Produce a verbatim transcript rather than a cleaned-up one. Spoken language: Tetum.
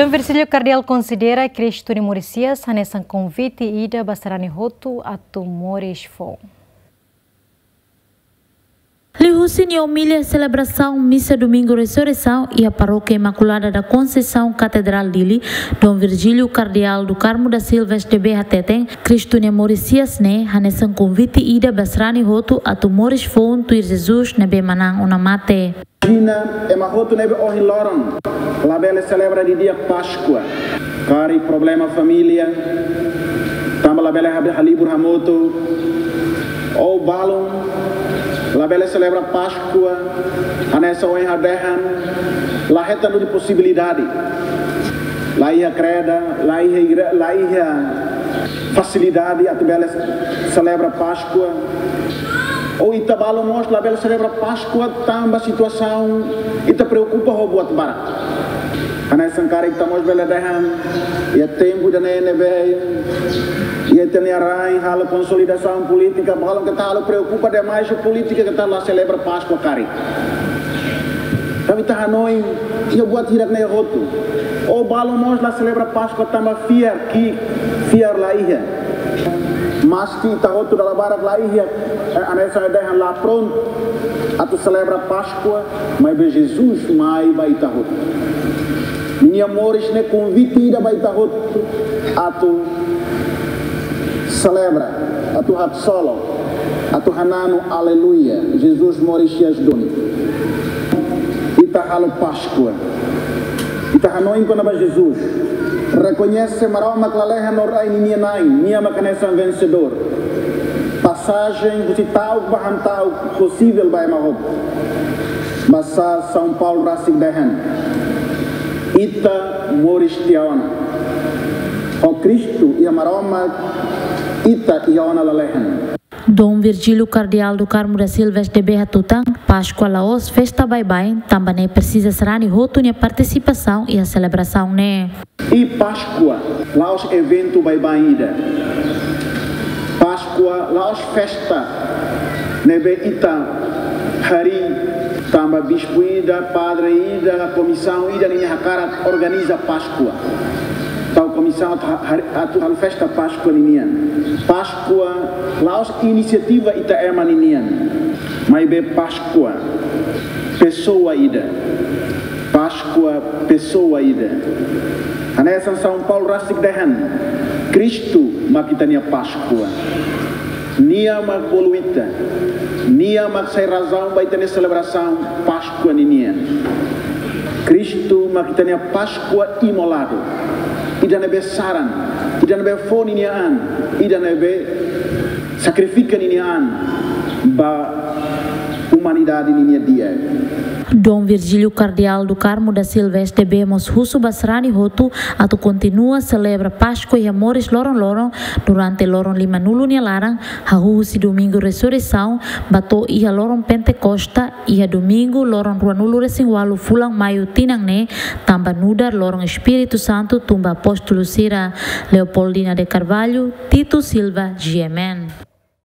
Dom Virgílio Kardeál konsidera Kristu nia moris hi'as hanesan konvite ida ba sarani hotu atu moris foun. Liuhusi nia omilia selebrasaun misa Domingu Resureisaun iha Parókia Imakulada da Konseisaun Katedrál Dili, Dom Virgílio Kardeál do Carmo da Silva S D B hateten, Kristu nia moris hi'as ne'e hanesan konvite ida ba sarani hotu atu moris foun tuir Jesus ne'ebé manán ona mate. Imajina ema hotu ne'ebé ohin loron labele selebra didi'ak Páskua. Karik problema família, tanba labele ha-, halibur hamutuk, ou balun labele selebra Páskua, hanesan ohin ha'u dehan, la hetan duni posibilidade. La iha kreda, la iha igre-, la iha fasilidade atu bele selebra Páskua. Ou ita balun mós labele selebra Páskua tanba situasaun, ita preokupa ho buat barak. Hanesan karik ita mós bele dehan, iha tempu ida-ne'e ne'ebé iha ita-nia rain halo konsolidasaun polítika, balun keta halo preokupa demais ho polítika, keta la selebra Páskua karik. Tanba ita hanoin, iha buat hirak-ne'e hotu. Ou balun mós la selebra Páskua tanba fiar ki'ik, fiar la iha. Maski ita hotu dala barak la iha, eh, hanesan dehan la prontu atu selebra Páskua, maibé Jesus mai ba ita hotu. Ninia moris ne'e konvite ida ba ita hotu atu selebra, atu haksolok, atu hananu, aleluia, Jesus moris hi'as duni. Ita halo Páskua. Ita hanoin kona-ba Jesus. Rekoñese Maromak lalehan no rai ninia na'in, nia mak hanesan vensedór. Pasajen husi ta'uk ba hamta'uk posivel ba ema hotu. Basá São Paulo rasik dehan: Ita moris tiha ona. Ho Kristu iha Maromak, ita iha ona lalehan. Dom Virgílio Kardeál do Carmo da Silva S D B hatutan, Páskua la'ós festa baibain, tanba ne'e presiza sarani hotu nia partisipasaun iha selebrasaun ne'e. I Páskua la'ós eventu baibain ida. Páskua la'ós festa ne'ebé ita harii tanba bispu ida, padre ida, komisaun ida ninia hakarak organiza Páskua. Tau komisaun atu ha-, har-, atu halo festa Páskua ninian. Páskua la'ós inisiativa ita ema ninian. Maibé Páskua pesoa ida. Páskua pesoa ida. Hanesan São Paulo rasik dehan, Kristu mak ita-nia Páskua. Nia mak bolu ita. Nia mak sai razaun ba ita-nia selebrasaun Páskua ninian. Kristu mak ita-nia Páskua imoladu. Ida ne'ebé saran, ida ne'ebé fó ninia an, ida ne'ebé sakrifika ninia an ba umanidade ninia di'ak. Dom Virgílio Kardeál do Carmo da Silva S D B mós husu ba sarani hotu atu kontinua selebra Páskua iha moris loron-loron durante loron limanulu nia laran, hahú husi Domingu Resureisaun ba to'o iha loron Pentekosta, iha Domingu loron ruanulu-resin-ualu fulan Maiu tinan ne'e, tanba nu'udar loron Espíritu Santu tun ba apóstolu sira. Leopoldina de Carvalho, Tito Silva, G M N.